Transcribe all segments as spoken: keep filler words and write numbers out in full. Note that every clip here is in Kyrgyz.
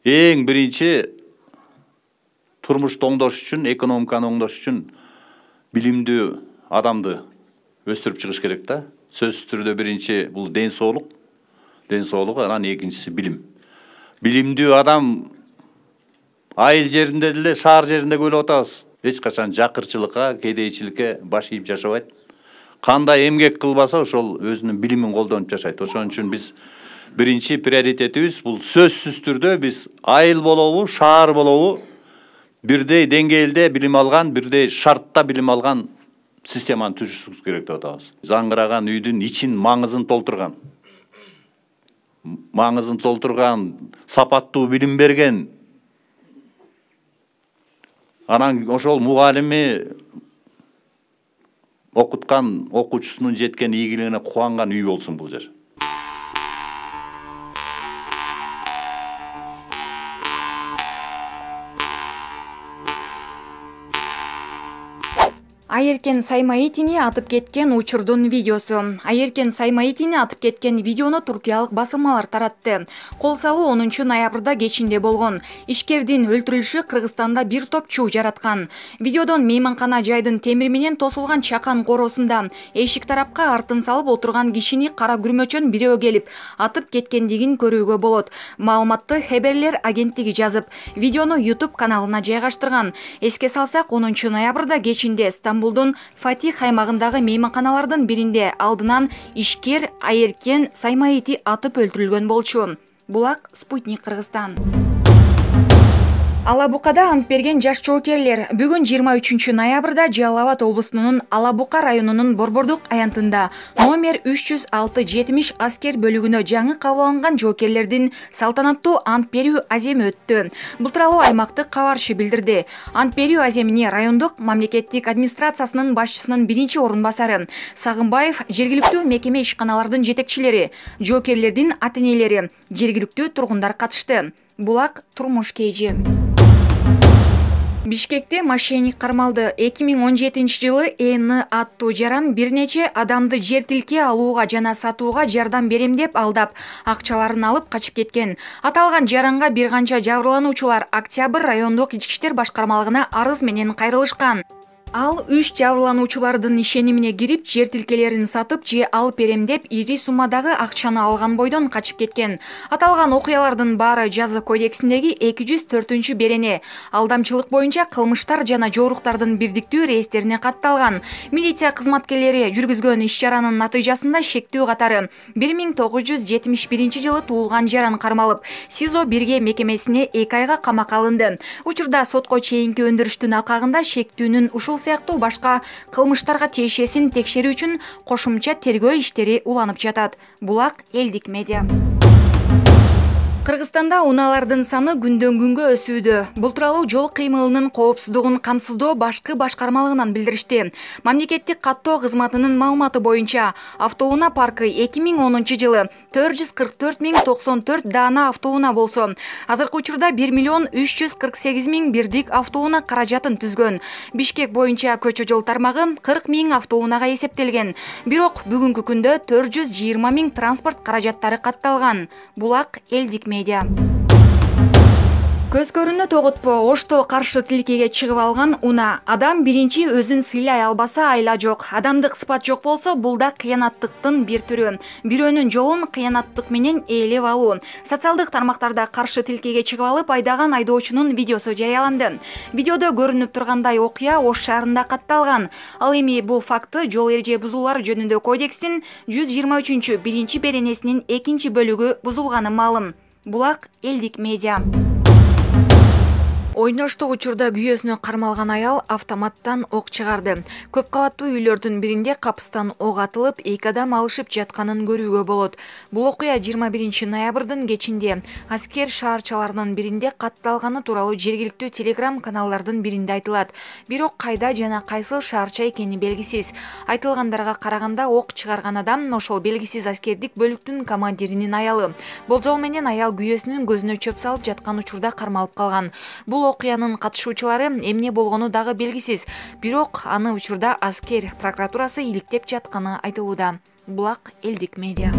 Эң биринчи турмушту оңдош үчүн, экономиканы оңдош үчүн билимдүү адамды өстүрүп чыгыш керек да. Сөзсүз түрдө биринчи бул ден соолук, ден соолук, анан экинчиси билим. Билимдүү адам айыл жеринде деле, шаар жеринде көрүп атабыз. Эч качан жакырчылыкка, кедейчиликке баш ийип жашабайт. Кандай эмгек кылбаса, ошол өзүнүн билимин колдонуп жашайт. Ошон үчүн биз биринчи приоритетибиз бул сөзсүз түрдө биз айыл болобу, шаар болобу, бирдей деңгээлде билим алган, бирдей шартта билим алган системаны түзүшүбүз керек деп атабыз. Заңгыраган үйдүн ичин маңызын толтурган, маңызын толтурган, сапаттуу билим берген, анан ошол мугалими окуткан окуучусунун жеткен ийгилигине кубанган үй болсун бул жер. Айеркен Саймаитини атып кеткен учурдун видеосу. Айеркен Саймаитини атып кеткен видеону туркиялык басылмалар таратты. Кол салуу онунчу ноябрда кечинде болгон. Ишкердин өлтүрүлүшү Кыргызстанда бир топ чуу жараткан. Видеодон мейманкана жайдын темир менен тосулган чакан коросунда эшик тарапка артын салып отурган кишини кара күрмөчөн бирөө келип атып кеткендигин көрүүгө болот. Маалыматты Хеберлер агенттиги жазып, видеону YouTube каналына жайгаштырган. Эске салсак, онунчу ноябрда кечинде Стамбулдун Фатих аймагындагы мейманканалардын биринде алдынан ишкер Айеркен Саймаити атып өлтүрүлгөн болчу. Булак Спутник Кыргызстан. Алабукада ант берген жаш жоокерлер бүгүн жыйырма үчүнчү ноябрда Жалал Абад облусунун Алабука районунун Борбордук аянтында номер үч жүз алты жетимиш аскер бөлүгүнө жаңы кабыл алынган жоокерлердин салтанаттуу ант берүү аземи өттү. Бул тууралуу аймактык кабарчы билдирди. Ант берүү аземине райондук мамлекеттик администрациясынын башчысынын биринчи орун басары Сагынбаев, жергиликтүү мекеме ишканалардын жетекчилери, жоокерлердин ата-энелери, жергиликтүү тургундар катышты. Булак турмуш кейжи. Бишкекте мошенник кармалды. эки миң он жетинчи жылы Эни аттуу жаран бир нече адамды жер тилке алууга жана сатууга жардам берем деп алдап, акчаларын алып качып кеткен. Аталган жаранга бир канча жабырлануучулар Октябрь райондук ички иштер башкармалыгына арыз менен кайрылышкан. Ал үч жабырлануучулардын ишенимине кирип, жер тилкелерин сатып же алып берем деп ири суммадагы акчаны алган бойдон качып кеткен. Аталган окуялардын баары жаза кодексиндеги эки жүз төртүнчү берене алдамчылык боюнча кылмыштар жана жоруктардын бирдиктүү реестерине катталган. Милиция кызматкерлери жүргүзгөн иш-чаранын натыйжасында шектүү катары бир миң тогуз жүз жетимиш биринчи жылы туулган жаран кармалып, СИЗО бирге мекемесине эки айга камакка алынды. Учурда сотко чейинки өндүрүштүн алкагында шектүүнүн ушул сыяктуу башка кылмыштарга тиешесин текшерүү үчүн кошумча тергөө иштери уланып жатат. Булак элдик медиа. Кыргызстанда унаалардын саны күндөн күнгө өсүүдө. Бул тууралуу жол кыймылынын коопсуздугун камсыздоо башкы башкармалыгынан билдиришти. Мамлекеттик каттоо кызматынын маалыматы боюнча, автоунаа паркы эки миң онунчу жылы төрт жүз кырк төрт миң токсон төрт даана автоунаа болсо, азыркы учурда бир миллион үч жүз кырк сегиз миң бирдик автоунаа каражатын түзгөн. Бишкек боюнча көчө жол тармагы кырк миң автоунаага эсептелген. Бирок бүгүнкү күндө төрт жүз жыйырма миң транспорт каражаттары катталган. Булак элдик медиа. Көз көрүүнү тоготпо, Ошто каршы тилкеге чыгып алган унаа. Адам биринчи өзүн сыйлай албаса айла жок. Адамдык сыпат жок болсо, бул да кыянаттыктын бир түрү. Бирөөнүн жолун кыянаттык менен ээлеп алуу. Социалдык тармактарда каршы тилкеге чыгып алып айдаган айдоочунун видеосу жарыяланды. Видеодо көрүнүп тургандай окуя Ош шаарында катталган. Ал эми бул факты жол эреже бузуулары жөнүндө кодекстин жүз жыйырма үчүнчү биринчи беренесинин экинчи бөлүгү бузулганы маалым. Булак элдик медиа. Ойноштук учурда күйөөсүнө кармалган аял автоматтан ок чыгарды. Көп кабаттуу үйлөрдүн биринде капыстан ок атылып, эки адам алышып жатканын көрүүгө болот. Бул окуя жыйырма биринчи ноябрдын кечинде аскер шаарчаларынын биринде катталганы тууралуу жергиликтүү телеграм каналдардын биринде айтылат. Бирок кайда жана кайсыл шаарча экени белгисиз. Айтылгандарга караганда ок чыгарган адам ошол белгисиз аскердик бөлүктүн командиринин аялы. Болжол менен аял күйөөсүнүн көзүнө чөп салып жаткан учурда кармалып калган. Бул окуянын катышуучулары эмне болгону дагы белгисиз. Бирок аны учурда аскер прокуратурасы иликтеп жатканы айтылууда. Булак элдик медиа.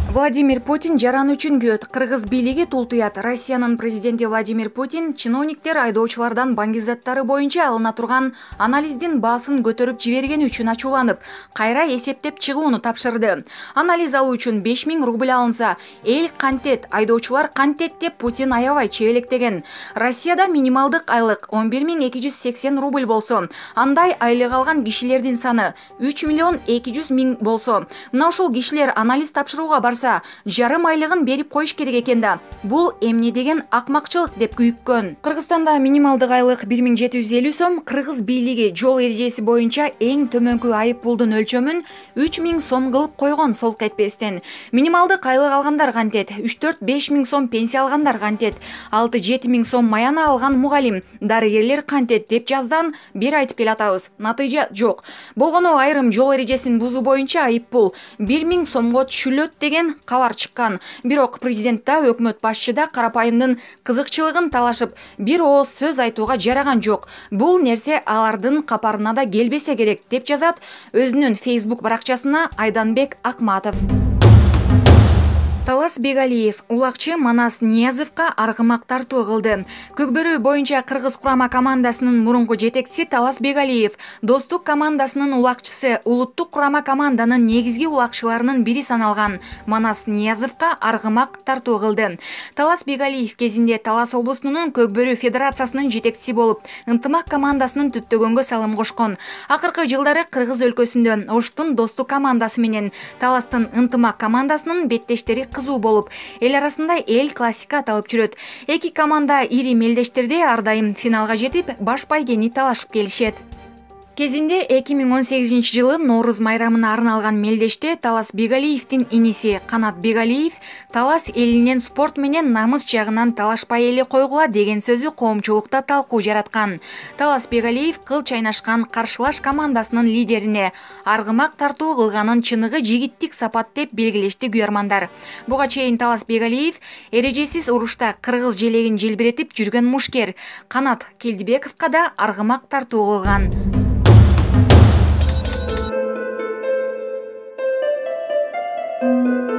Владимир Путин жаран үчүн күйөт. Кыргыз бийлиги тултуят. Россиянын президенти Владимир Путин чиновниктер айдоочулардан баңгизаттары боюнча алына турган анализдин баасын көтөрүп жибергени үчүн ачууланып, кайра эсептеп чыгууну тапшырды. Анализ алуу үчүн беш миң рубль алынса, эл кантет, айдоочулар кантет деп Путин аябай чебелектеген. Россияда минималдык айлык он бир миң эки жүз сексен рубль болсо, андай айлык алган кишилердин саны үч миллион эки жүз миң болсо, мына ушул кишилер анализ тапшырууга барса, жарым айлыгын берип коюш керек экен да. Бул эмне деген акмакчылык деп күйүккөн. Кыргызстанда минималдык айлык бир миң жети жүз элүү сом, Кыргыз бийлиги жол эрежеси боюнча эң төмөнкү айып пулдун өлчөмүн үч миң сом кылып койгон солк этпестен. Минималдык айлык алгандар кантет, үч төрт беш миң сом пенсия алгандар кантет, алты жети миң сом маяна алган мугалим, дарыгерлер кантет деп жаздан бир айтып келатабыз. Натыйжа жок. Болгону айрым жол эрежесин бузуу боюнча айып пул бир миң сомго түшүлөт деген кабар чыккан. Бирок президентта, өкмөт башчыда карапайымдын кызыкчылыгын талашып, бир ооз сөз айтууга жараган жок. Бул нерсе алардын капарына да келбесе керек деп жазат өзүнүн Facebook баракчасына Айданбек Акматов. Талас Бегалиев улакчы Манас Ниязовго аргымак тартуу кылды. Көкбөрү боюнча Кыргыз курама командасынын мурунку жетекчиси Талас Бегалиев, Достук командасынын улакчысы, улуттук курама команданын негизги улакчыларынын бири саналган Манас Ниязовго аргымак тартуу кылды. Талас Бегалиев кезинде Талас облусунун Көкбөрү федерациясынын жетекчиси болуп, Ынтымак командасын түптөгөнгө салым кошкон. Акыркы жылдары Кыргыз өлкөсүндө Оштун Достук командасы менен Таластын Ынтымак командасынын беттештери кызуу болуп, эл арасында эл классика аталып жүрөт. Эки команда ири мелдештерде ар дайым финалга жетип, баш байгени талашып келишет. Кезинде эки миң он сегизинчи жылы Нооруз майрамына арналган мелдеште Талас Бегалиевдин иниси Канат Бегалиев Талас элинен спорт менен намыс жагынан талашпай эле койгула деген сөзү коомчулукта талкуу жараткан. Талас Бегалиев кыл чайнашкан каршылаш командасынын лидерине аргымак тартуу кылганын чыныгы жигиттик сапат деп белгилешти күйөрмандар. Буга чейин Талас Бегалиев эрежесиз урушта кыргыз желегин желбиретип жүргөн мушкер Канат Келдибековго да аргымак тартуу кылган. Thank you.